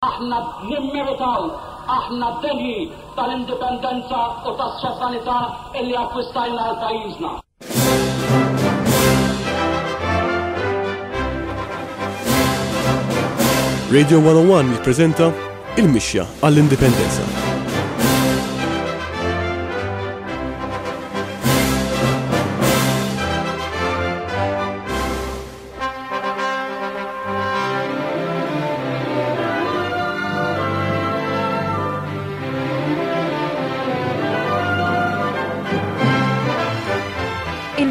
Aħna nimmeritaw, aħna denji tal-indipendenza u tas-sovranità illi akkwistajna għal pajjiżna. Radio 101 jippreżenta Il-Mixja għall-Indipendenza.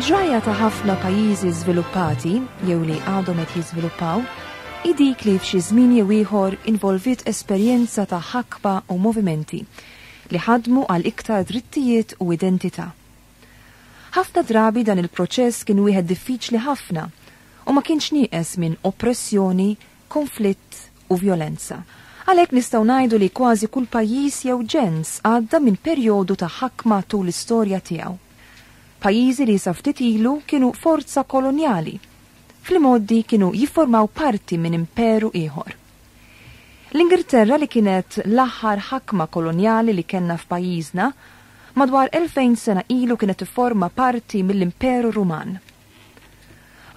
Il-ġrajja ta' ħafna pajjiżi żviluppati jew li għadhom qed jiżviluppaw hi dik li f'xi żmien jew ieħor involviet esperjenza ta' ħakma u movimenti li ħadmu għal iktar drittijiet u identità. Ħafna drabi dan il-proċess kien wieħed diffiċli ħafna u ma kienx nieqes minn oppressjoni, konflitt u vjolenza. Għalhekk nistgħu ngħidu li kważi kull pajjiż jew ġens għadda minn perjodu ta' ħakma tul l-istorja tiegħu. Pajjiżi li sa ftit ilu kienu forza kolonjali, fl-imgħoddi kienu jifformaw parti minn imperu ieħor. L-Ingilterra li kienet l-aħħar ħakma kolonjali li kellna f'pajjiżna, madwar 2000 sena ilu kienet tifforma parti mill-Imperu Ruman.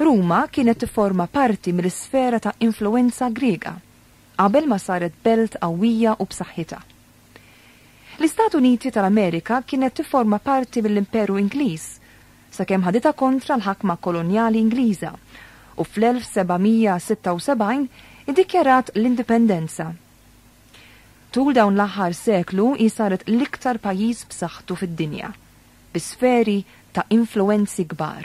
Ruma kienet tifforma parti mill-isfera ta' influwenza Griega, qabel ma saret belt qawwija u b'saħħitha. L-Istati Uniti tal-Amerika kienet tifforma parti mill-Imperu Ingliż, sakemm ħaditha kontra l-ħakma kolonjali Ingliża u fl-1776 iddikjarat l-indipendenza. Tul dawn l-aħħar seklu hi saret l-iktar pajjiż b'saħħtu fid-dinja, bi sferi ta' influwenzi kbar.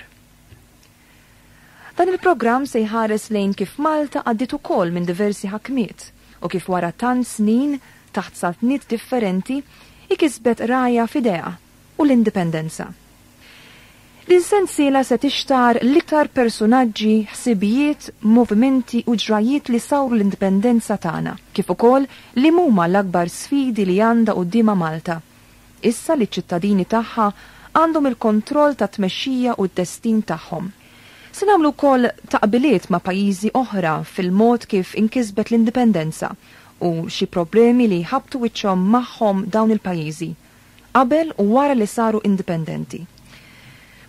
Dan il-programm se jħares lejn kif Malta għaddiet ukoll minn diversi ħakmiet u kif wara tant snin taħt saltniet differenti hi kisbet rgħajja f'idejha u l-indipendenza. Din sensiela se tixtar l-iktar persunaġġi, ħsibijiet, movimenti u ġrajjiet li sawru l-indipendenza tagħna, kif ukoll liem huma l-akbar sfidi li għandha quddiemha Malta, issa li ċ-ċittadini tagħha għandhom il-kontroll tat-tmexxija u d-destin tagħhom. Se nagħmlu wkoll taqbiliet ma' pajjiżi oħra fil-mod kif inkisbet l-indipendenza u xi problemi li jħabbtu wiċċhom magħhom dawn il-pajjiżi. qabel u wara li saru indipendenti.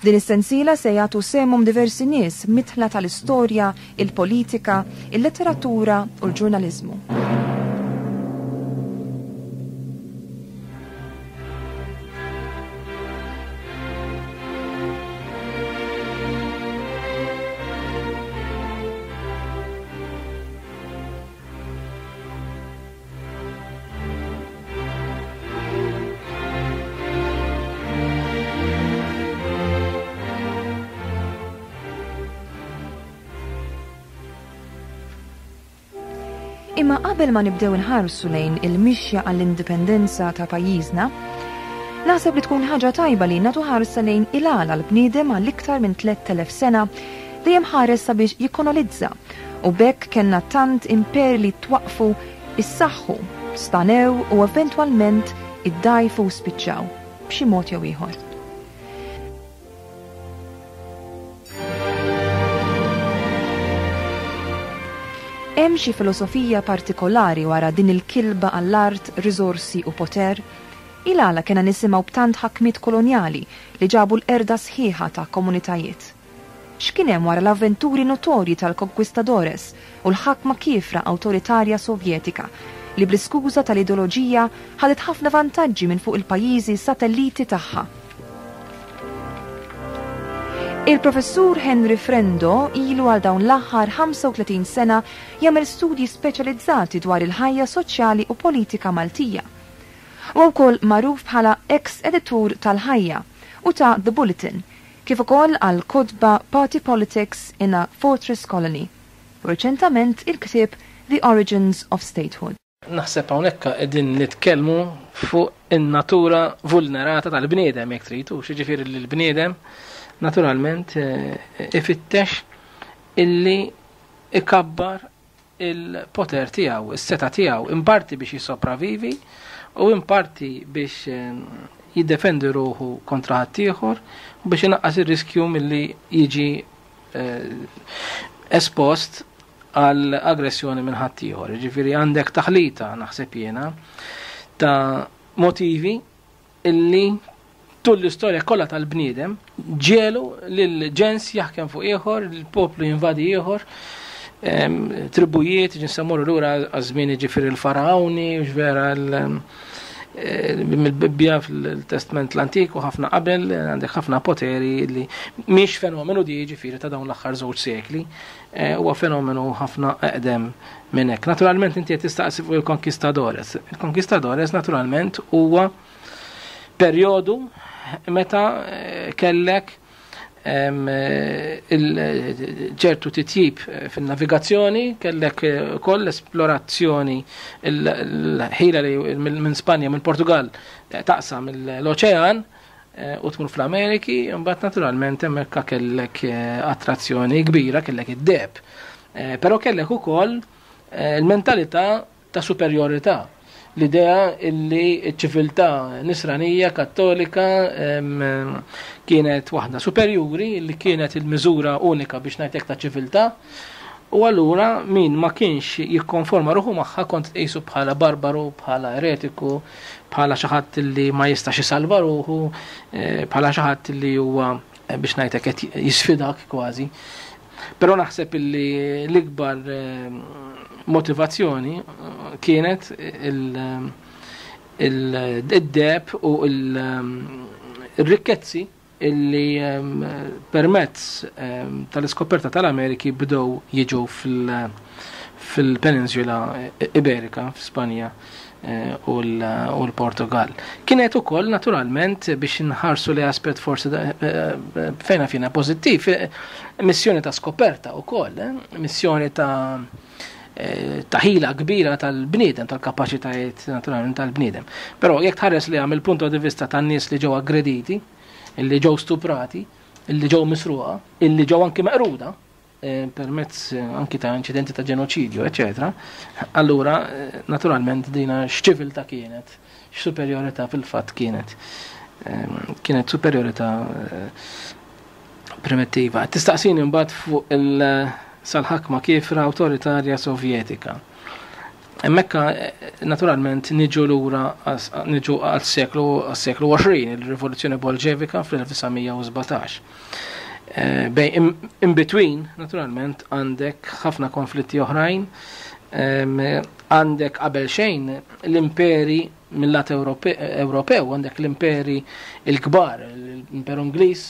F'din is-sensiela se jagħtu sehemhom diversi nies midħla tal-istorja, il-politika, il-letteratura u l-ġurnaliżmu. Imma qabel ma nibdew inħarsu lejn il-mixja għall-indipendenza ta' pajjiżna, naħseb li tkun ħaġa tajba li nagħtu ħarsa lejn il-għala l-bniedem għal iktar minn 3000 sena dejjem ħares sabiex jikkonolizza U b'hekk kellna tant imperi li twaqqfu, issaħħu, stanew u eventwalment iddgħajfu u spiċċaw, b'xi mod jew ieħor. Hemm xi filosofija partikolari wara din il-kilba għall-art, riżorsi u poter? Il-għala kellna nisimgħu b'tant ħakmiet kolonjali li ġabu l-qerda sħiħa ta' komunitajiet? X'kien hemm wara l-avventuri notorji tal-conquistadores u l-ħakma kiefra awtoritarja Sovjetika, li bl-iskuża tal-ideoloġija ħadet ħafna vantaġġi minn fuq il-pajjiżi satelliti tagħha? Il-Professur Henry Frendo ilu għal dawn l-aħħar 35 sena jagħmel studji speċjalizzati dwar il-ħajja soċjali u politika Maltija. Huwa wkoll magħruf bħala eks editur tal-Ħajja u ta' The Bulletin, kif ukoll għal kotba Party Politics in a Fortress Colony u riċentament il-ktieb The Origins of Statehood. Naħseb hawnhekk qegħdin nitkellmu fuq in-natura vulnerata tal-bniedem jekk trid, hux jiġifieri li l-bniedem naturalment eh, ifittex illi ikabbar il-poter tiegħu, is-setgħa tiegħu, in parti biex jissopravivi u in parti biex eh, jiddefendi ruħu kontra ħaddieħor u biex inaqqas ir-riskju milli jiġi eh, espost għal aggressjoni minn ħaddieħor. Jiġifieri għandek taħlita naħseb jiena ta' motivi illi tul l-istorja kollha tal-bniedem ġiegħlu lil ġens jaħkem fuq ieħor, il-poplu jinvadi ieħor, tribujiet, ġinsamurru lura għaż-żmien jiġifieri l-faraoni, vera mill-Bibbja fil-Testament l-Antik u ħafna qabel għandek ħafna poteri li mhix fenomenu di jiġifieri ta' dawn l-aħħar żewġ sekli, huwa fenomenu ħafna eqdem minn hekk. Naturalment inti qed tistaqsi fuq il-Conquistadores. Il-Conquistadores naturalment huwa perjodu meta kellek ċertu titjib fin-navigazzjoni, kellek ukoll l-esplorazzjoni, l-ħila li minn Spanja, minn Portugal taqsam l-oċean u tmur fl-Ameriki, imbagħad naturalment hemmhekk kellek attrazzjoni kbira, kellek id-deheb. Però kellek ukoll il-mentalità ta' superjorità, l-idea illi ċ-ċiviltà nisranija kattolika kienet waħda superjuri, li kienet il-miżura unika biex ngħidlek ta' ċiviltà, u allura min ma kienx jikkonforma ruħu magħha kont tqisu bħala barbaru, bħala eretiku, bħala xi ħadd li ma jistax isalva ruħu, bħala xi ħadd li huwa biex ngħidlek qed jisfidak kważi. Però naħseb illi l-ikbar motivazzjoni kienet id-deheb u l-rikkezzi illi permezz tal-iskoperta tal-Ameriki bdew jiġu fil-Peninsula Iberika, f'Spanja u l-Portugal. Kienet ukoll naturalment biex nħarsu li aspett forsi fejna fina pożittiv, missjoni ta' skoperta ukoll, missjoni ta' ħila kbira tal-bniedem, tal-kapaċitajiet naturalment tal-bniedem. Però jekk tħares li mill punto di vista tan-nies li ġew aggrediti, illi ġew stuprati, illi ġew misruqa, illi ġew anki meqruda, permezz anki ta' inċidenti ta' ġenoċidju, eccetera, allura naturalment dina x'ċiviltà kienet, x'superjorità fil-fatt kienet. Kienet superjorità primittiva. Tistaqsini mbagħad fuq il-sal-ħakma kiefra awtoritarja sovjetika. Hemmhekk naturalment niġu lura niġu għal-seklu 20, il-Rivoluzzjoni Bolxevika fl-1917. Bej in between, naturalment, għandek ħafna konflitti oħrajn, għandek qabel xejn l-imperi mill-lat Ewropew, għandek l-imperi il-kbar, l-imperu Ingliż,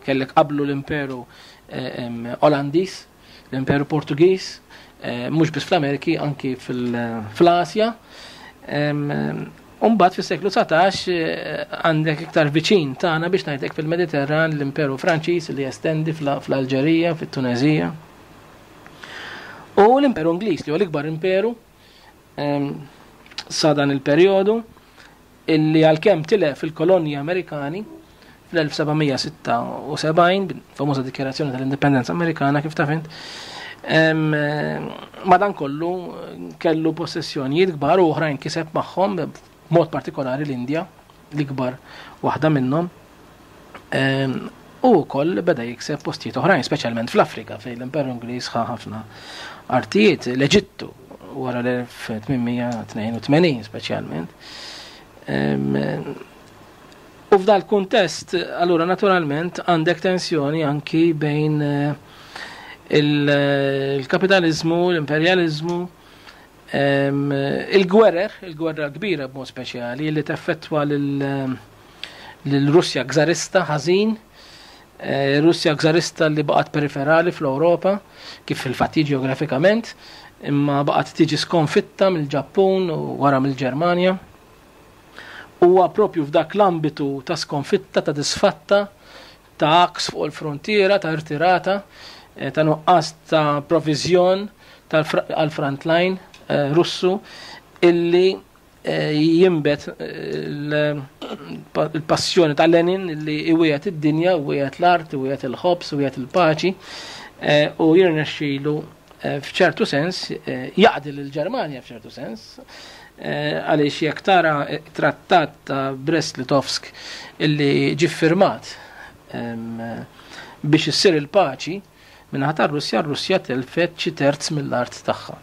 kellek qablu l-imperu Olandiż, l-imperu Portugiż, mhux biss fl-Ameriki, anki fl-Asja. Umbagħad fis-seklu 19 għandek iktar viċin tagħna biex ngħidlek fil-Mediterran l-Imperu Franċiż li jestendi fl-Alġerija, fit-Tunezija. U l-Imperu Ingliż li huwa l-ikbar imperu sa dan il-perjodu illi għalkemm tilef il-kolonji Amerikani fl-1776, famuża dikjarazzjoni tal-Indipendenza Amerikana kif taf int, madankollu kellu possessjonijiet kbar u oħrajn kiseb magħhom, b'mod partikolari l-Indja, l-ikbar waħda minnhom, u wkoll beda jikseb postijiet oħrajn, speċjalment fl-Afrika fejn l-Imperu Ingliż ħa ħafna artijiet, l-Eġittu wara l-1882 speċjalment. U f'dal kuntest, allura naturalment għandek tensjoni anki bejn il-kapitalizmu, l-imperjalizmu, il-gwerer, il-gwerra kbira b'mod speċjali li teffettwa lil-Russja gżarista ħażin, Russja gżarista li baqgħet periferali fl-Ewropa, kif fil-fatt ġeografikament, imma baqgħet tiġi skonfitta mill-Ġappun u wara mill-Ġermanja. Huwa propju f'dak l-ambitu ta' skonfitta, ta' disfatta, ta' għaks fuq il-frontiera, ta' irtirata, ta' nuqqas ta' provizjon għal-frontline Russu illi jimbet il-passjoni ta' Lenin illi iwiegħed id-dinja, iwiegħed l-art, iwiegħed il-ħobż, iwiegħed il-paċi, u jirnexxilu f'ċertu sens jaqdi lill-Ġermanja f'ċertu sens, għaliex jekk tara trattat ta' Brest-Litovsk illi ġie firmat biex issir il-paċi. Min-naħa tar-Russja, r-Russja telfet xi terz mill-art tagħha.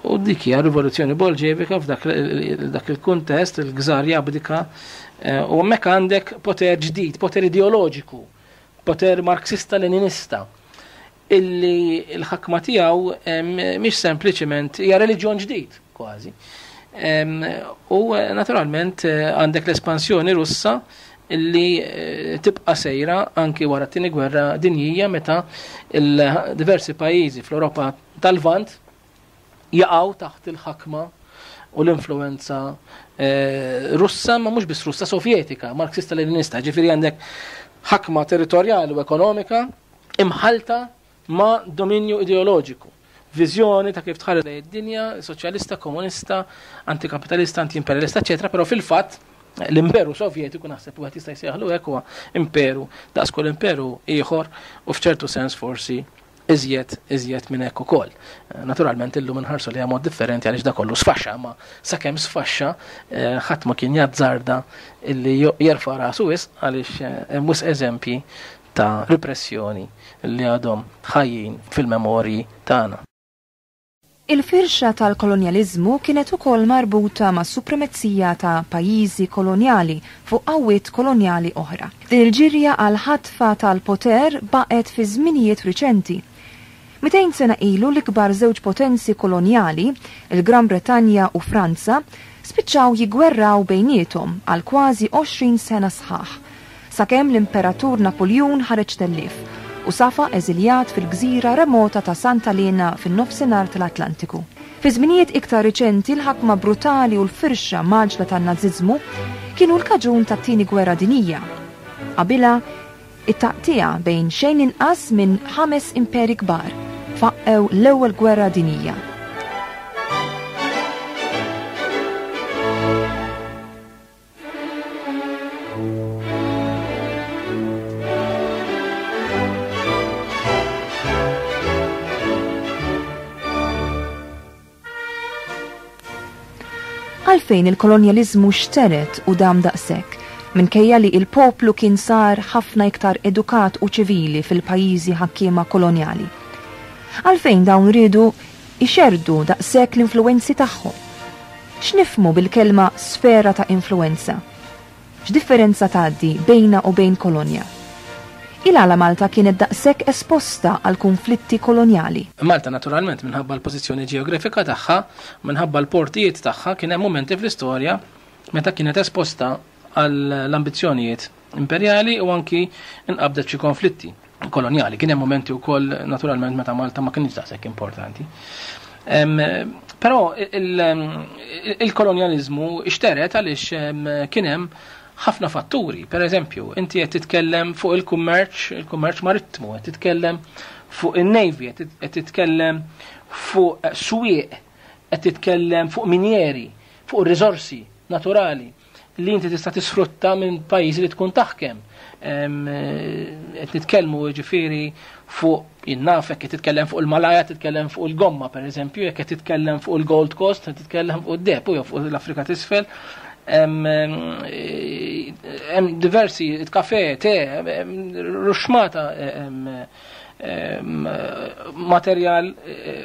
U dik hija rivoluzzjoni bolxevika f'dak il-kuntest, il-gżar jabdika, u hemmhekk għandek poter ġdid, poter ideoloġiku, poter marxista-leninista, illi l-ħakma tiegħu mhix sempliċement hija reliġjon ġdid kważi. U naturalment għandek l-espansjoni Russa illi tibqa' sejra anki wara t-tieni gwerra dinjija meta diversi pajjiżi fl-Ewropa tal-Lvant jaqgħu taħt il-ħakma u l-influenza eh, Russa, ma mhux biss Russa, Sovjetika, Marxista Leninista, ġifieri għandek ħakma territorjali u ekonomika imħalta ma' dominju ideoloġiku. Viżjoni ta' kif tħares lejn id-dinja, soċjalista, komunista, antikapitalista, anti-imperialista, eċetera, però fil-fatt l-imperu sovjetiku naħseb wieħed jista' jsejjaħlu hekk huwa imperu daqs kull imperu ieħor u f'ċertu sens forsi iżjed iżjed minn hekk ukoll. Naturalment illum inħarsu li mod differenti għaliex da kollu sfaxxa, ma sakemm sfaxxa eh, ħadd ma kien jazzarda illi jerfa' rasu wisq għaliex eh, hemm wisq eżempji ta' repressjoni li għadhom ħajjin fil-memorji tagħna. Il-firxa tal-kolonjaliżmu kienet ukoll marbuta mas-supremezija ta' pajjiżi kolonjali fuq qawwiet kolonjali oħra. Din il-ġirja għall-ħatfa tal-poter baqgħet fi żminijiet riċenti. 200 sena ilu l-ikbar żewġ potenzi kolonjali, il-Gran Bretanja u Franza, spiċċaw jiggwerraw bejniethom għal kważi 20 sena sħaħ, sakemm l-Imperatur Napuljun ħareġ tellief u safa eżiljat fil-gżira remota ta' Santa Elena fin-Nofsinhar tal-Atlantiku. Fi żminijiet iktar riċenti l-ħakma brutali u l-firxa mgħaġġla tan-Nażiżmu kienu l-kaġun tat-Tieni Gwerra Dinjija. Qabilha, it-taqtigħa bejn xejn inqas minn ħames imperi kbar faqqgħu l-Ewwel Gwerra Dinjija. Għalfejn il-kolonjaliżmu xtered u dam daqshekk, minkejja li il-poplu kien sar ħafna iktar edukat u ċivili fil-pajjiżi ħakkiema kolonjali? Għalfejn dawn riedu jxerrdu daqshekk l-influwenzi tagħhom? X'nifhmu bil-kelma sfera ta' influwenza? X'differenza tgħaddi bejnha u bejn kolonja? Il-għala Malta kienet daqshekk esposta għal kunflitti kolonjali? Malta naturalment minħabba l-pożizzjoni ġeografika tagħha, minħabba l-portijiet tagħha kien hemm mumenti fl-istorja meta kienet esposta għall-ambizzjonijiet imperjali u anki nqabdet xi konflitti kolonjali. Kien hemm mumenti wkoll naturalment meta Malta ma kienx daqshekk importanti. Però il-kolonjaliżmu xteret għaliex kien hemm ħafna fatturi. Per eżempju, inti qed titkellem fuq il-kummerċ, il-kummerċ marittimu, qed titkellem fuq in-navy, qed titkellem fuq swieq, qed titkellem fuq minjeri, fuq riżorsi naturali li inti tista' tisfrutta minn pajjiżi li tkun taħkem. Qed nitkellmu ġifieri fuq jinnaf jekk qed titkellem fuq il-Malaja, titkellem fuq il-gomma pereżempju, jekk qed titkellem fuq il-Gold Coast, qed titkellem fuq id-deheb u fuq l-Afrika t'isfel. Hemm diversi kafe, te, ruxmata materjal,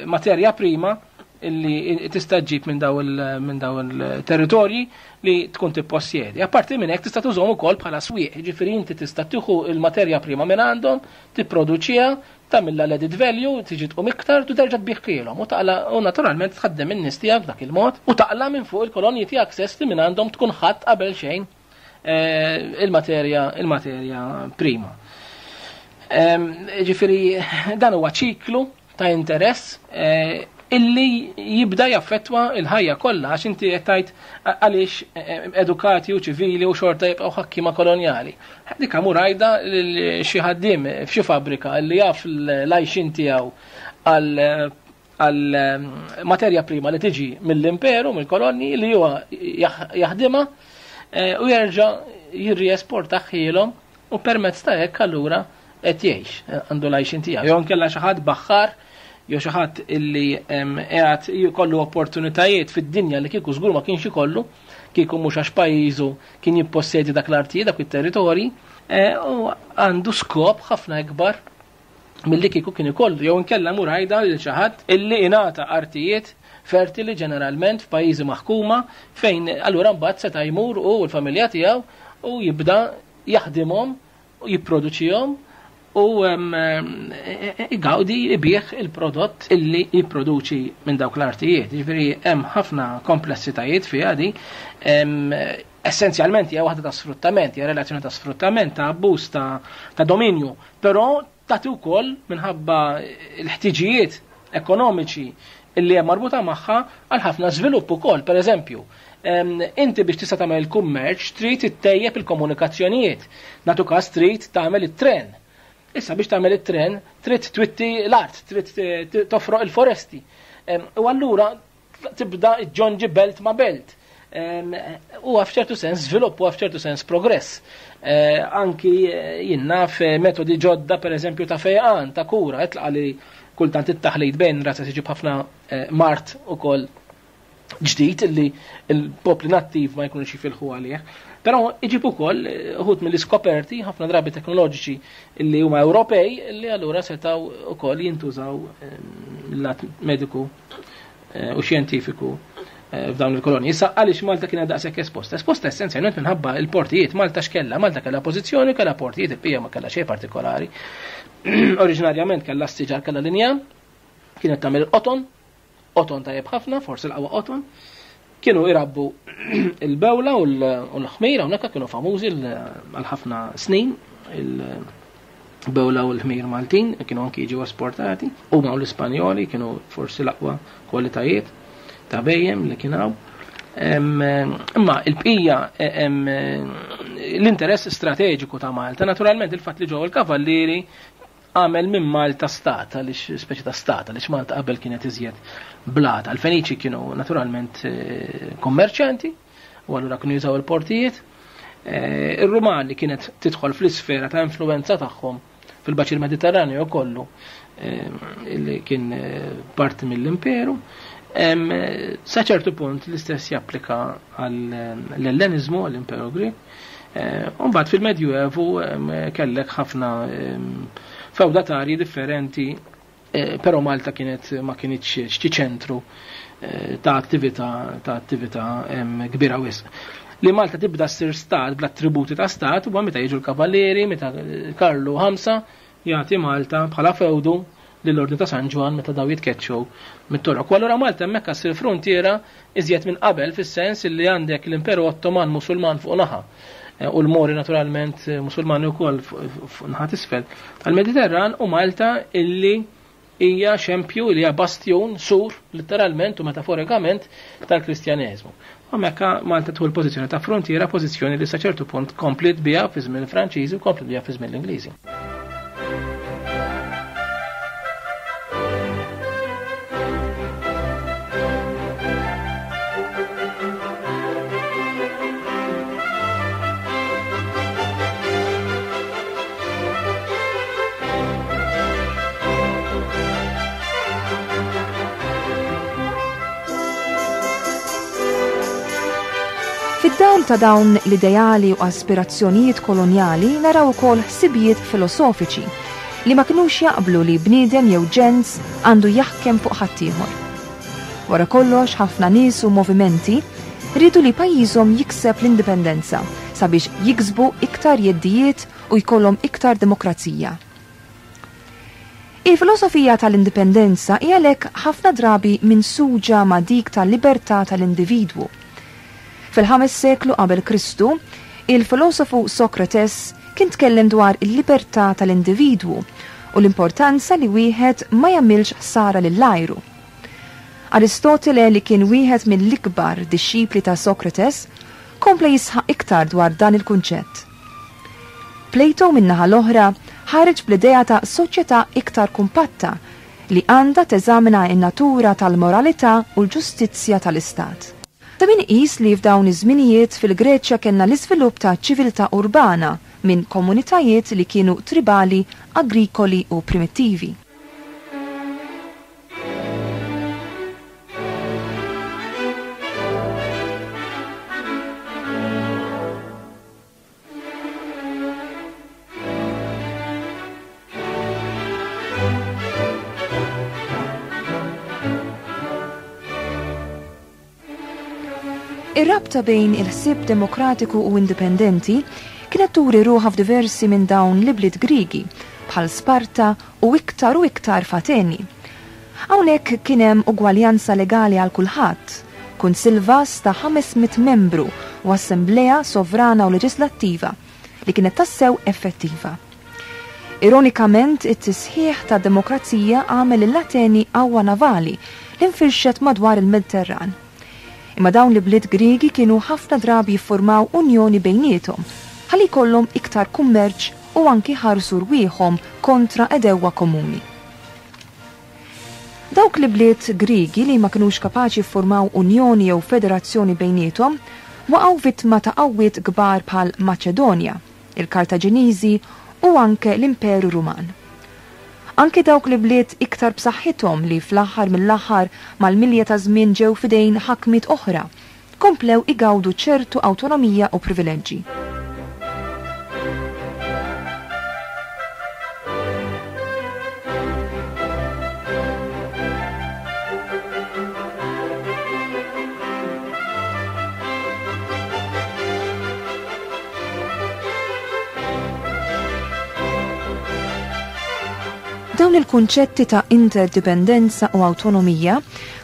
materja prima illi tista' ġġib minn daw il-territorji li tkun tippossjedi. Apparti minn hekk tista' tużhom ukoll bħala swieq, jiġifieri inti tista' tieħu l-materja prima minn għandhom, tipproduċiha, tagħmilha l-added value, tiġi tqum iktar u terġa' tbigħhielhom u taqla' u naturalment tħaddem in-nies tiegħek b'dak il-mod u taqla' minn fuq il-kolonji tiegħek stess li minn għandhom tkun ħadt qabel xejn eh, il-materja il-materja prima. Ġifieri dan huwa ċiklu ta' interess eh, illi jibda jaffettwa il-ħajja kollha għax inti qed tgħid għaliex eh, edukati u ċivili u xorta jibqgħu ħakkiema kolonjali. Dik mur għajda xi ħaddiem f'xi fabbrika li jaf l-għajxin tiegħu għal għal materja prima li tiġi mill-imperu, mill-kolonni li huwa jaħdimha eh, u jerġa' jirriesporta ħielhom u permezz ta' hekk allura qed jgħix, għandu l-għajxien tiegħu. Jew inkella xi ħadd baħħar jew xi ħadd illi qiegħed jkollu opportunitajiet fid-dinja li kieku żgur ma kienx ikollu, kieku mhux għax pajjiżu kien jippossedi dak l-artijiet, dak it-territorji, eh, u għandu skop ħafna ikbar milli kieku kien ikollu jew inkella mur għidha lil xi ħadd illi ingħata artijiet fertili ġeneralment f'pajjiżi maħkuma fejn allura mbagħad seta' jmur hu u l-familja tiegħu u jibda jaħdimhom u jipproduċihom u igawdi ibigħ il-prodott illi jipproduċi minn dawk l-artijiet. Jiġifieri hemm ħafna komplessitajiet fiha di. Essenzjalment hija waħda ta' sfruttament, hija relazzjoni ta' sfruttament, ta' abbuż, ta' dominju, però tagħti wkoll minħabba l-ħtiġijiet ekonomiċi illi hemm marbuta magħha għal ħafna żvilupp ukoll. Per eżempju, inti biex tista' tagħmel il-kummerċ trid ittejjeb il-komunikazzjonijiet. Nagħtu każ trid tagħmel it-tren. Issa biex tagħmel it-tren trid twitti l-art, trid tofroq il-foresti. U allura tibda ġġonġi belt ma' belt. Huwa f'ċertu sens żvilupp, huwa f'ċertu sens progress. Eh, anki eh, jien naf eh, metodi ġodda pereżempju ta' fejqan, ta' kura, itlaqa li kultant it-taħlit bejn razza tiġib ħafna mart ukoll ġdid illi l-popli nattiv ma jkunux jifilħu għalih. Però iġib ukoll uħud mill-iskoperti ħafna drabi teknoloġiċi illi huma Ewropej illi allura setgħu ukoll jintużaw mill-lat mediku Eh, u xjentifiku eh, f'dawn il-kolonji. Issa għaliex Malta kienet daqshekk esposta? Esposta essenzjalment minħabba il-portijiet. Malta x'kella? Malta kellha pożizzjoni, kellha portijiet, il-pija ma kellha xejn partikolari. Oriġinarjament kellha s-siġar, kellha linja, kienet tagħmel il-qoton, qoton tajjeb ħafna, forsi l-qawwa qoton. Kienu irabbu il-bewla u l-ħmir, hawnhekk kienu famużi għal ħafna snin il-bewla u l-ħmir Maltin, kienu anki jiġu esportati, huma u l-Ispanjoli kienu forsi l-aqwa kwalitajiet ta' bejjem li kien hawn. Imma il-bqija l-interess strateġiku ta' Malta, naturalment il-fatt li ġew il-kavallieri għamel minn Malta stat, għaliex speċi ta' stat, għaliex Malta qabel kienet iżjed blata. Il-Feniċi kienu naturalment eh, kommerċjanti, u allura kienu jużaw il-portijiet. Eh, Ir-Rumani kienet tidħol fl-isfera ta' influenza tagħhom fil-baċir Mediterranju kollu eh, li kien parti mill-imperu. Sa ċertu punt l-istess japplika għall-Ellenizmu, għall-Imperu Grek. Eh, Umbagħad fil-Medjuevu kellek ħafna fewdatarji differenti, eh, però Malta kienet ma kienitx xi ċentru eh, ta' attività ta' attività kbira wisq. Li Malta tibda ssir stat bl-attributi ta' stat huwa meta jiġu l-kavallieri, meta Karlu ħamsa jagħti Malta bħala fewdu lill-Ordni ta' San Ġwann meta daw jitkeċċew mit-Torok. U allura Malta hemmhekk ssir fruntiera iżjed minn qabel fis-sens li għandek l-Imperu Ottoman Musulman fuq naħa eh, u l-Mori naturalment eh, Musulmani wkoll fuq naħa t'isfel tal-Mediterran u Malta illi hija xempju li hija bastjun sur letteralment u metaforikament tal-Kristjaneżmu. U mekka Malta tħu l-pożizzjoni ta' frontiera, pożizzjoni li sa ċertu punt kompliet biha fi żmien il-Franċiżi u kompliet biha fi żmien l-Ingliżi. Fid-dawl ta' dawn l-ideali u aspirazzjonijiet kolonjali naraw ukoll ħsibijiet filosofiċi li ma kinux jaqblu li bniedem jew ġens għandu jaħkem fuq ħaddieħor. Wara kollox ħafna nies u movimenti riedu li pajjiżhom jikseb l-indipendenza sabiex jiksbu iktar jeddijiet u jkollhom iktar demokrazija. Il-filosofija tal-indipendenza hi għalhekk ħafna drabi minsuġa ma' dik tal-libertà tal-individwu. Fil-ħames seklu qabel Kristu, il-filosofu Sokrates kien tkellem dwar il-libertà tal-individwu u l-importanza li wieħed ma jagħmilx ħsara lil għajru. Aristotele li kien wieħed mill-ikbar dixxipli ta' Sokrates kompla jisħaq iktar dwar dan il-kunċett. Plato min-naħa l-oħra ħareġ bl-idea ta' soċjetà iktar kumpatta li għandha teżamina n-natura tal-moralità u l-ġustizzja tal-istat. Ta' min iqis li f'dawn iż-żminijiet fil-Greċja kellna l-iżvilupp ta' ċiviltà urbana minn komunitajiet li kienu tribali, agrikoli u primittivi. Ir-rabta bejn il-ħsieb demokratiku u indipendenti kienet turi ruħha f'diversi minn dawn l-ibliet Griegi, bħal Sparta u iktar u iktar f'Ateni. Hawnhekk kien hemm ugwaljanza legali għal kulħadd, kunsill vast ta' 500 membru u assemblea sovrana u leġislattiva li kienet tassew effettiva. Ironikament, it-tisħiħ tad-demokrazija għamel lill-Ateni qawwa navali li nfirxet madwar il-Mediterran. Imma dawn l-ibliet Griegi kienu ħafna drabi jiffurmaw unjoni bejniethom ħalli jkollhom iktar kummerċ u anki jħarsu rwieħhom kontra għedewwa komuni. Dawk l-ibliet Griegi li ma kinux kapaċi jiffurmaw unjoni jew federazzjoni bejniethom waqgħu vittma ta' qawwiet kbar bħal Maċedonja, il-Kartaġiniżi u anke l-Imperu Ruman. Anke dawk l-ibliet iktar b'saħħithom li fl-aħħar mill-aħħar mal-milja taż-żmien ġew f'idejn ħakmiet oħra, komplew igawdu ċertu awtonomija u privileġġi. Dawn il-kunċetti ta' interdipendenza u awtonomija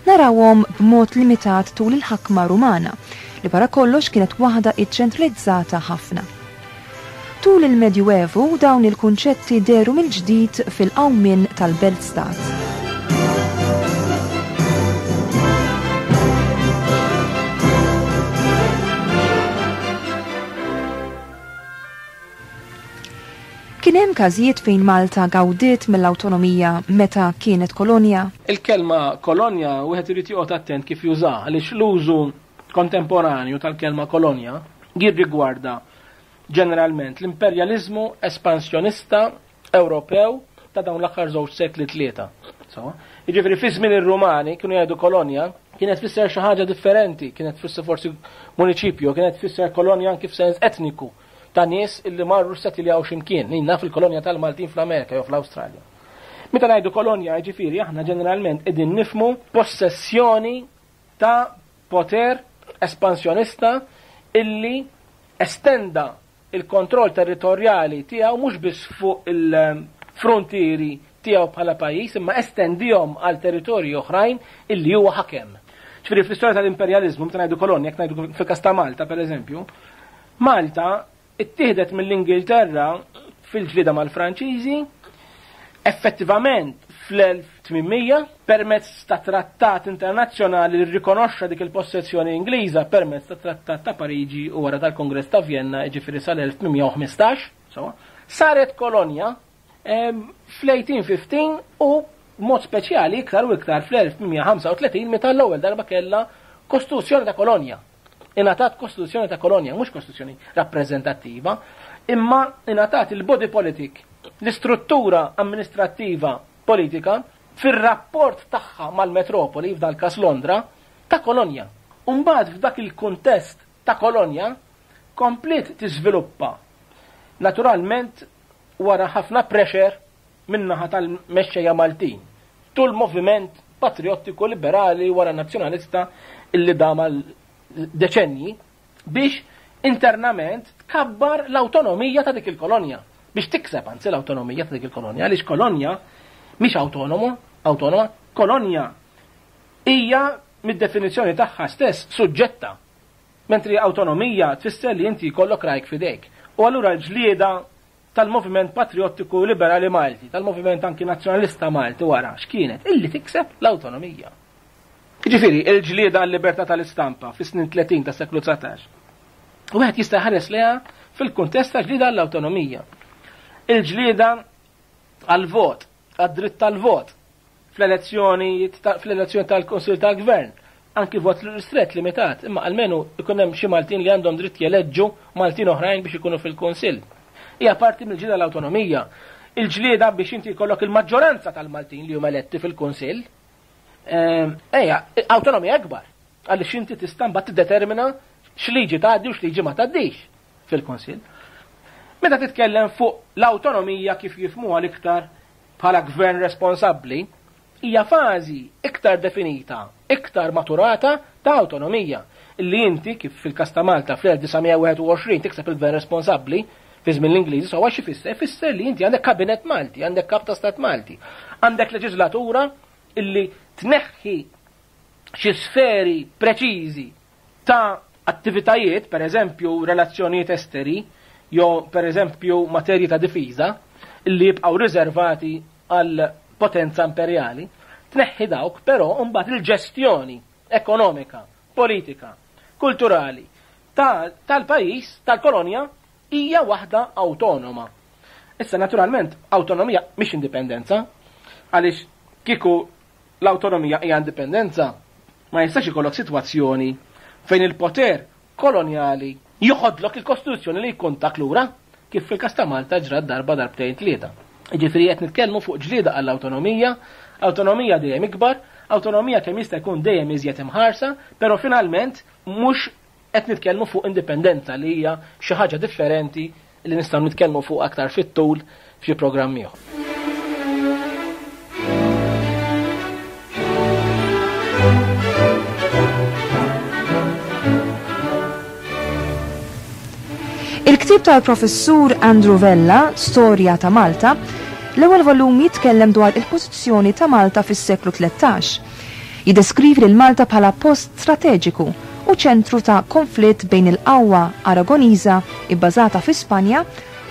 narawhom b'mod limitat tul il-ħakma Rumana, li wara kollox kienet waħda iċċentralizzata ħafna. Tul il-Medjuevu dawn il-kunċetti dehru mill-ġdid fil-qawmien tal-belt-stat. Kien hemm każijiet fejn Malta gawdiet mill-awtonomija meta kienet kolonja? Il-kelma kolonja wieħed irid joqgħod attent kif jużaha għaliex l-użu kontemporanju tal-kelma kolonja jirrigwarda ġeneralment l-imperjaliżmu espansjonista Ewropew ta' dawn l-aħħar żewġ sekli tlieta. So, jiġifieri fi żmien ir-Rumani kienu jgħidu kolonja, kienet tfisser xi ħaġa differenti, kienet tfisser forsi municipio, kienet tfisser kolonja anki f'sens etniku ta' nies illi marru settiljaw x'imkien, nina fil-kolonja tal-Maltin fl-Amerika jew fl-Awstralja. Meta ngħidu kolonja, jiġifieri aħna ġeneralment qegħdin nifmu possessjoni ta' poter espansjonista illi estenda il-kontroll territorjali tiegħu mhux biss fuq il-frontieri tiegħu bħala pajjiż imma estendihom għal territorji oħrajn illi huwa ħakem. Ġifieri fl-istorja tal-imperjaliżmu meta ngħidu kolonja, jekk ngħidu fil-każ ta' Malta pereżempju, Malta ittieħdet mill-Ingilterra fil-ġlieda mal-Franċiżi effettivament fl-1800 permezz ta' trattat internazzjonali li rrikonoxxa dik il-possessjoni Ingliża permezz ta' trattat ta' Pariġi u wara tal-Kongress ta' Vjenna, jiġifieri sal-1815, sewwa, saret kolonja fl-1815 u b'mod speċjali iktar u iktar fl-1835 meta l-ewwel darba kellha kostituzzjoni ta' kolonja. Ingħatat kostituzzjoni ta' kolonja, mhux kostituzzjoni rappreżentattiva, imma ingħatat il-body politic, l-istruttura amministrattiva politika fir-rapport tagħha mal-metropoli, f'dal każ Londra, ta' kolonja. U mbagħad f'dak il-kuntest ta' kolonja kompliet tiżviluppa naturalment wara ħafna pressure min-naħa tal-mexxejja Maltin tul moviment patriottiku liberali wara nazzjonalista illi dam għal deċenji biex internament tkabbar l-awtonomija ta' dik il-kolonja biex tikseb anzi l-awtonomija ta' dik il-kolonja għaliex kolonja mhix awtonomo, awtonoma, kolonja hija mid-definizzjoni tagħha stess suġġetta. Mentri awtonomija tfisser li inti jkollok rajk f'idejk. U allura l-ġlieda tal-moviment patriottiku liberali Malti, tal-moviment anki nazzjonalista Malti wara, x'kienet? Illi tikseb l-awtonomija. Jiġifieri, il-ġlieda għal-libertà tal-istampa fis-snin 30 tas-seklu 19. Wieħed jista' jħares lejha fil-kuntest ta' ġlieda għall-awtonomija. Il-ġlieda għall-vot, għad-dritt tal-vot, fl-elezzjoni fl-elezzjoni tal-Kunsill tal-Gvern, anki vot ristret limitat, imma almenu ikun hemm xi Maltin li għandhom dritt jeleġġu Maltin oħrajn biex ikunu fil-Kunsill. Hija parti mill-ġlieda l-awtonomija. Il-ġlieda biex inti jkollok il-maġġoranza tal-Maltin li huma eletti fil-Kunsill. Ehm, ejja, awtonomija akbar. Għaliex inti tista' mbagħad tiddetermina x'liġi tgħaddi u x'liġi ma tgħaddix fil-Kunsill. Meta titkellem fuq l-awtonomija kif jifmuha l-iktar bħala gvern responsabbli, hija fażi iktar definita, iktar maturata ta' awtonomija. Illi inti, kif fil-każ ta' Malta fl-1921 tikseb il-gvern responsabbli fi żmien l-Ingliżi, sewwa x'ifisser? Ifisser li inti għandek kabinett Malti, għandek kap ta' stat Malti, għandek leġislatura illi tneħħi xi sferi preċiżi ta' attivitajiet, per eżempju relazzjonijiet esteri, jew per eżempju materji ta' difiża, illi jibqgħu riservati għal potenza imperjali, tneħħi dawk, però mbagħad il-ġestjoni ekonomika, politika, kulturali tal-pajjiż, tal-kolonja, hija waħda awtonoma. Issa naturalment awtonomija mhix indipendenza, għaliex kieku l-awtonomija hija indipendenza, ma jistax ikollok sitwazzjoni fejn il-poter kolonjali joħodlok il-kostituzzjoni li jkun tak lura, kif fil-każ ta' Malta ġrat darba darbtejn tlieta. Jiġifieri qed nitkellmu fuq ġlieda għall-awtonomija, awtonomija dejjem ikbar, awtonomija kemm jista' jkun dejjem iżjed imħarsa, però finalment mhux qed nitkellmu fuq indipendenza li hija xi ħaġa differenti li nistgħu nitkellmu fuq aktar fit-tul f'xi programm ieħor. Il-ktieb tal-Professur Andrew Vella, Storja ta' Malta, l-ewwel volum jitkellem dwar il-pożizzjoni ta' Malta fis-seklu 13. Jiddeskrivi lil Malta bħala post strateġiku u ċentru ta' konflitt bejn il-qawwa Aragoniża ibbażata fi Spanja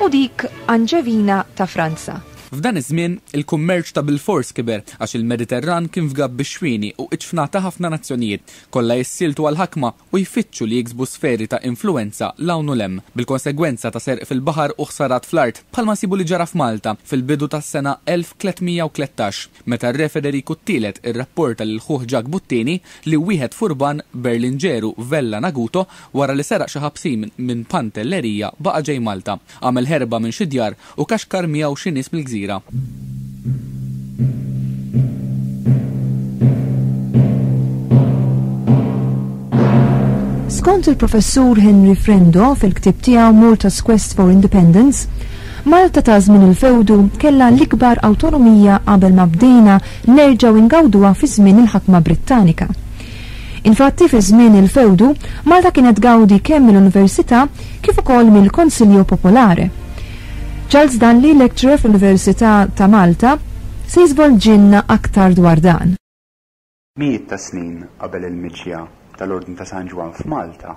u dik Anġevina ta' Franza. F'dan iż-żmien, il-kummerċ ta' bilfors kiber għax il-Mediterran kien fgab bix-xwieni u iġfna ta' ħafna nazzjonijiet, kollha jissieltu għall-ħakma u jfittxu li jiksbu sferi ta' influwenza 'l hawn u 'l hemm, bil-konsegwenza ta' serq fil-baħar u ħsarat fl-art, bħalma nsibu li ġara f'Malta fil-bidu tas-sena 1313, meta r-Re Federiku t-Tielet irrapporta lil ħuh Ġakbu t-Tieni li wieħed furban, Berlinġeru Vella Naguto, wara li seraq xi ħabsin minn Pantellerija baqa' ġej Malta, għamel ħerba minn xi djar u kaxkar miegħu xi nies mill-gżira. Skont il-Professur Henry Frendo fil-ktieb tiegħu Malta's Quest for Independence, Malta ta' żmien il-fewdu kellha l-ikbar awtonomija qabel ma bdejna nerġgħu ingawduha fi żmien il-ħakma Brittanika. Infatti fi żmien il-fewdu, Malta kienet tgawdi kemm mill-Università kif ukoll mill-Consiglio Popolare. Charles Dalli, lecturer fl-Università ta' Malta, se jiżvolġilna aktar dwar dan. Mijiet ta' snin qabel il-miġja tal-Ordni ta' San Ġwann f'Malta,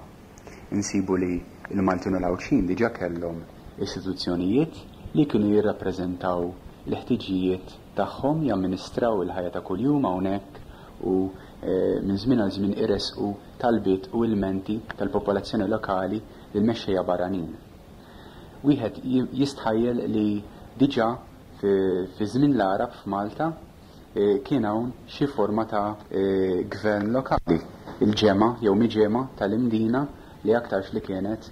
insibu li l-Maltin u l-Għawdxin diġà kellhom istituzzjonijiet li kienu jirrappreżentaw il-ħtiġijiet tagħhom, jamministraw il-ħajja ta' kuljum hawnhekk u minn żmien għal żmien iressqu talbiet u ilmenti tal-popolazzjoni lokali lill-mexxejja barranin. Wieħed jistħajjel li diġà fi żmien l-Għarab f'Malta, kien hawn xi forma ta' gvern lokali, il-ġemgħa jew miġemgħa tal-Imdina li aktarx li kienet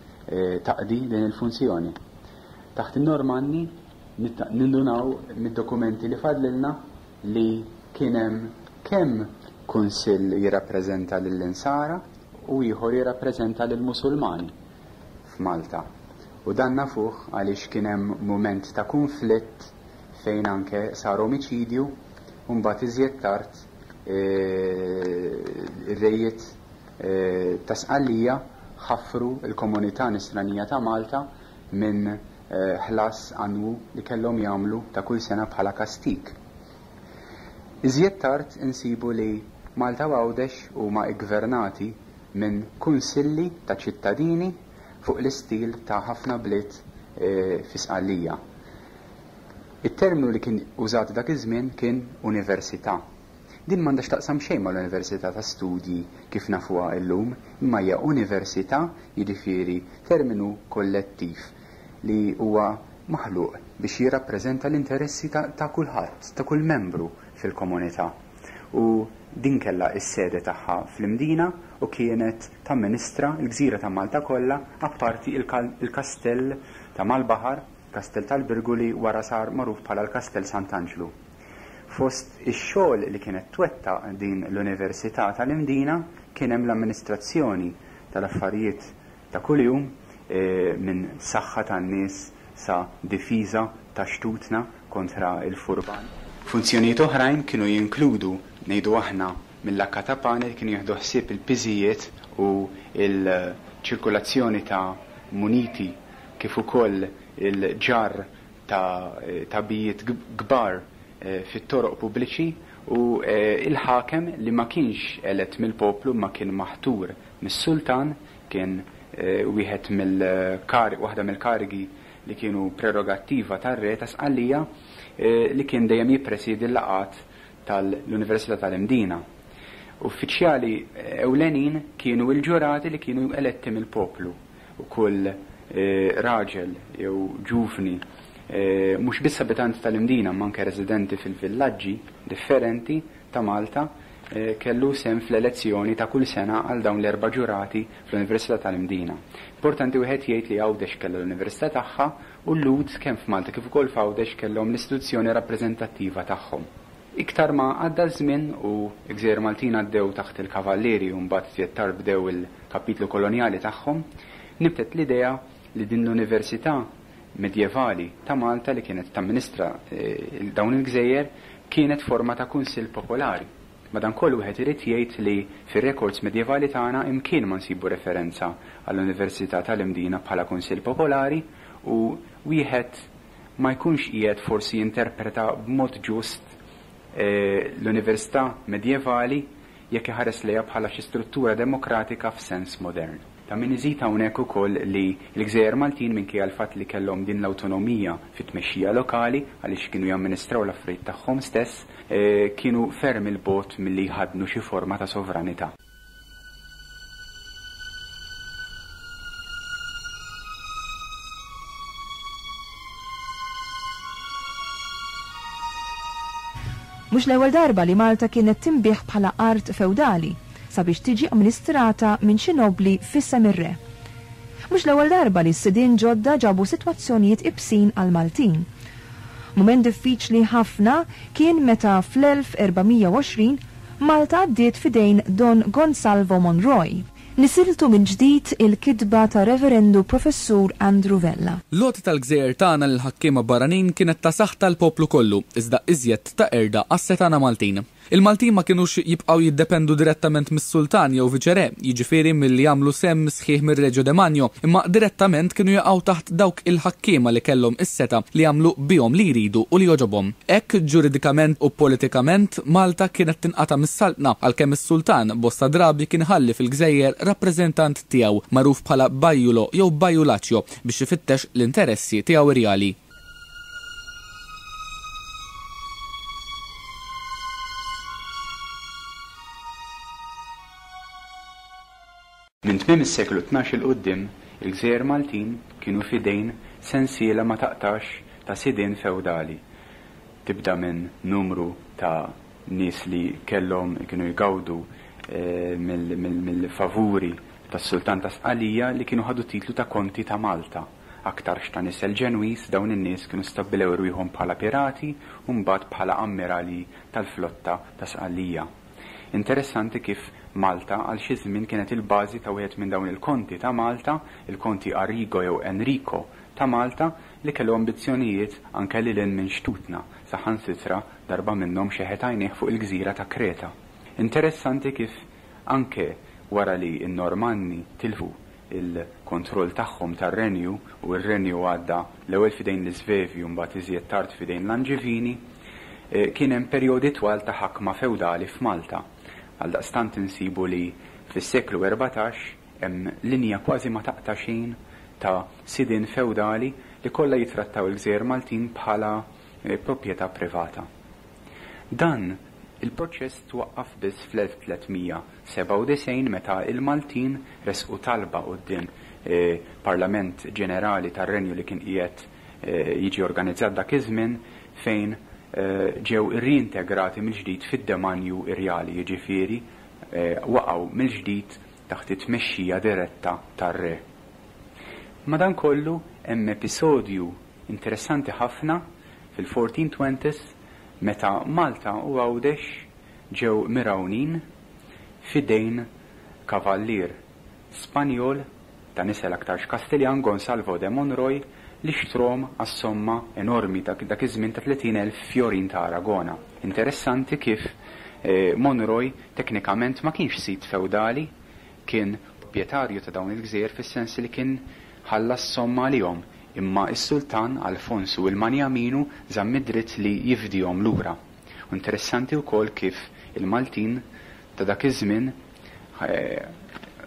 taqdi din il-funzjoni. Taħt in-Normanni nindunaw mid-dokumenti li fadlilna li kien hemm kemm kunsill jirrappreżenta lill-Insara u ieħor jirrappreżenta lill-Musulmani f'Malta. U dan nafuh għaliex kien hemm mument ta' kunflitt fejn anke sar omiċidju u mbagħad iżjed tard ir-rejiet ta' Sqallija ħaffru l-komunità Nisranija ta' Malta minn ħlas annwu li kellhom jagħmlu ta' kull sena bħala kastig. Iżjed tard insibu li Malta u Għawdex huma ggvernati minn kunsilli ta' ċittadini fuq l-istil ta' ħafna bliet fi Sqallija. It-terminu li kien użat dak iż-żmien kien università. Din m'għandha x'taqsam xejn mal-università ta' studji kif nafuha illum, imma hija università, jiġifieri terminu kollettiv li huwa maħluq biex jirrappreżenta l-interessi ta' kulħadd, ta' kull membru fil-komunità. U din kellha s-sede tagħha fl-Imdina u kienet tamministra l-gżira ta' Malta kollha apparti l-kastell ta' mal-baħar, Kastell tal-Birgu li wara sar magħruf bħala l-Kastell Sant'Anġlu. Fost ix-xogħol li kienet twettaq din l-Università tal-Imdina kien hemm l-amministrazzjoni tal-affarijiet ta' kuljum minn saħħa tan-nies sa difiża ta' xtutna kontra l-furban. Funzjonijiet oħrajn kienu jinkludu, ngħidu aħna, mill-Accatapane li kienu jieħdu ħsieb il-piżijiet u l-ċirkulazzjoni ta' muniti kif ukoll il-ġarr ta' tagħbijiet kbar fit-toroq pubbliċi u l-ħakem li ma kienx elett mill-poplu imma kien maħtur mis-sultan, kien wieħed mill-kar waħda mill-karigi li kienu prerogattiva tar-re ta' Sqallija li kien dejjem jippresiedi l-laqgħat tal-Università tal-Imdina. Uffiċjali ewlenin kienu l-ġurati li kienu eletti mill-poplu u kull raġel jew ġuvni mhux biss abitant tal-Imdina imma anke residenti fil-villaġġi differenti ta' Malta kellu sehem fl-elezzjoni ta' kull sena għal dawn l-erba' ġurati fl-Università tal-Imdina. Importanti wieħed jgħid li Għawdex kellha l-Università tagħha u l-Lhud kemm f'Malta kif ukoll f'Għawdex kellhom l-istituzzjoni rappreżentattiva tagħhom. Iktar ma għadda ż-żmien u l-gżejjer Maltin għaddew taħt il-Kavallieri u mbagħad iżjed tard bdew il-kapitlu kolonjali tagħhom, nibtet l-idea li din l-università medjevali ta' Malta li kienet tamministra dawn il-gżejjer kienet forma ta' kunsill popolari. Madankollu wieħed irid jgħid li fir-rekords medjevali tagħna imkien ma nsibu referenza għall-Università tal-Imdina bħala kunsill popolari u wieħed ma jkunx qiegħed forsi jinterpreta b'mod ġust l-università medjevali jekk iħares lejha bħala xi struttura demokratika f'sens modern. Ta' min iżid hawnhekk ukoll li l-gżejjer Maltin minkejja l-fatt li kellhom din l-awtonomija fit-tmexxija lokali, għaliex kienu jamministraw l-affarijiet tagħhom stess, kienu ferm 'il bogħod milli jħaddnu xi forma ta' sovranità. Mhux l-ewwel darba li Malta kienet tinbiegħ bħala art fewdali sabiex tiġi amministrata minn xi nobbli f'isem ir-re. Mhux l-ewwel darba li s-sidien ġodda ġabu sitwazzjonijiet ibsin għall-Maltin. Mument diffiċli ħafna kien meta fl-1420 Malta għaddiet f'idejn Don Gonsalvo Monroy. Nisiltu mill-ġdid il-kitba ta' Reverendu Professur Andrew Vella. L-għoti tal-gżejjer tagħna lill-ħakkiema barranin kienet ta' saħta għall-poplu kollu, iżda iżjed ta' qerda għas-setgħana Maltin. Il-Maltin ma kinux jibqgħu jiddependu direttament mis-sultan jew viċerè, jiġifieri milli jagħmlu sehem sħiħ mir-Reġio Demanio, imma direttament kienu jaqgħu taħt dawk il-ħakkiema li kellhom is-setgħa li jagħmlu bihom li jridu u li jogħġobhom. Hekk, ġuridikament u politikament, Malta kienet tinqata' mis-saltna, għalkemm is-sultan bosta drabi kien iħalli fil-gżejjer rappreżentant tiegħu, magħruf bħala bajjulo jew bajjulaċjo, biex ifittex l-interessi tiegħu rjali. Minn tmiem is-seklu 12 'il quddiem, il-gżejjer Maltin kienu f'idejn sensiela ma taqtax ta' sidien fewdali. Tibda minn numru ta' nies li kellhom kienu jgawdu mill-favuri tas-Sultan ta' Sqalija li kienu ħadu t-titlu ta' Konti ta' Malta. Aktarx ta' nisel Ġenwiż, dawn in-nies kienu stabbilew rwieħhom bħala pirati u mbagħad bħala ammiralji tal-flotta ta' Sqallija. Interessanti kif Malta għal xi żmien kienet il-bażi ta' wieħed minn dawn il-konti ta' Malta, il-Konti Arrigo jew Enrico ta' Malta, li kellu ambizzjonijiet anke lil hinn minn xtutna, saħansitra darba minnhom xeħet għajnejh fuq il-gżira ta' Kreta. Interessanti kif anke wara li n-Normanni tilfu il-kontroll tagħhom tar-renju u r-renju għadda l-ewwel f'idejn l-Isvevi u mbagħad iżjed tard f'idejn l-Anġivini, kien hemm perjodi twal ta' ħakma fewdali f'Malta. Għaldaqstant insibu li fis-seklu 14 hemm linja kważi ma taqta' xejn ta' sidien fewdali li kollha jittrattaw il-gżejjer Maltin bħala proprjetà privata. Dan il-proċess twaqqaf biss fl-1397 meta l-Maltin ressqu talba quddiem Parlament Ġenerali tar-Renju li kien qiegħed jiġi organizzat dak iż-żmien fejn ġew irriintegrati mill-ġdid fid-demanju rjali, jiġifieri waqgħu mill-ġdid taħt it-tmexxija diretta tar-re. Madankollu hemm episodju interessanti ħafna fil-1420s meta Malta u Għawdex ġew mirgħunin f'idejn kavallier Spanjol ta' nisel aktarx Kastiljan, Gonsalvo de Monroy, li xtrahom għas-somma enormi ta' dak iż-żmien ta' 30,000 fjorin ta' Aragona. Interessanti kif Monroy teknikament ma kienx sid fewdali. kien proprjetarju ta' dawn il-gżejjer fis-sens li kien ħallas somma għalihom, imma s-sultan Alfonsu il-Manjaminu żamm id-dritt li jifdihom lura. U interessanti wkoll kif il-Maltin ta' dak iż-żmien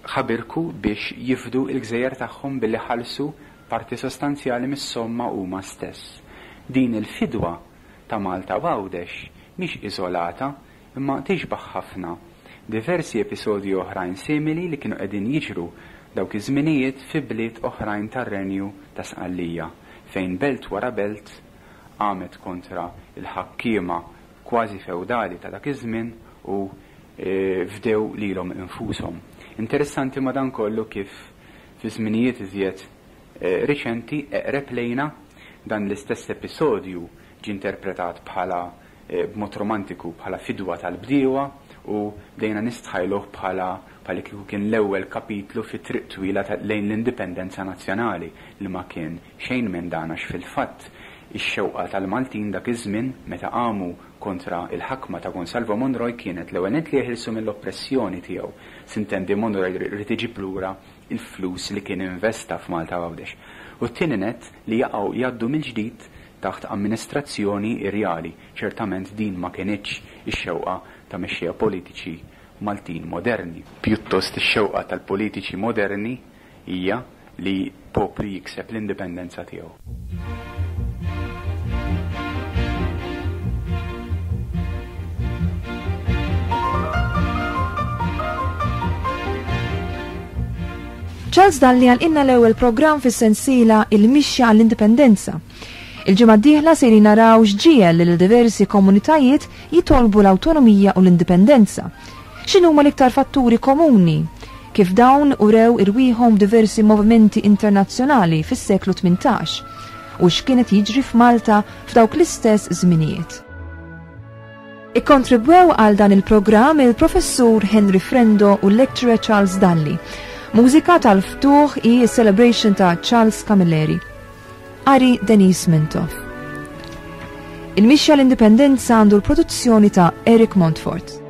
ħabirku biex jifdu l-gżejjer tagħhom billi ħallsu parti sostanzjali mis-somma huma stess. Din il-fidwa ta' Malta u Għawdex mhix iżolata imma tixbah ħafna diversi episodji oħrajn simili li kienu qegħdin jiġru dawk iż-żminijiet fi bliet oħrajn tar-Renju ta' Sqallija fejn belt wara belt qamet kontra l-ħakkiema kważi fewdali ta' dak iż-żmien u fdew lilhom infushom. Interessanti madankollu kif fi żminijiet iżjed riċenti, eqreb lejna, dan l-istess episodju ġie interpretat bħala b'mod romantiku bħala fidwa tal-bdiewa u bdejna nistħajluh bħala bħal kieku kien l-ewwel kapitlu fit-triq twila lejn l-indipendenza nazzjonali li ma kien xejn minn dan għax fil-fatt ix-xewqa tal-Maltin dak iż-żmien meta qamu kontra l-ħakma ta' Gonsalvo Monroy kienet l-ewwel nett li jeħilsu mill-oppressjoni tiegħu. Sintendi Monroy ried iġib lura l-flus li kien investa f'Malta u Għawdex. U t-tieni nett li jaqgħu jgħaddu mill-ġdid taħt amministrazzjoni irjali. Ċertament din ma kinitx ix-xewqa ta' mexxejja politiċi Maltin moderni. Pjuttost ix-xewqa tal-politiċi moderni hija li poplu jikseb l-indipendenza tiegħu. Charles Dalli għalqilna l-ewwel programm fis-sensiela Il-Mixja għall-Indipendenza. Il-ġimgħa d-dieħla sejrin naraw x'ġiegħel lil diversi komunitajiet jitolbu l-awtonomija u l-indipendenza. X'inhuma l-iktar fatturi komuni? Kif dawn urew irwieħhom f'diversi movimenti internazzjonali fis-seklu 18? U x'kien qed jiġri f'Malta f'dawk l-istess żminijiet? Ikkontribwew għal dan il-programm il-Professur Henry Frendo u l-Lecturer Charles Dalli. Mużika tal-ftuħ hi s-Celebration ta' Charles Camilleri. Qari Denise Mintoff. Il-Mixja l-Indipendenza għandu l-produzzjoni ta' Eric Montfort.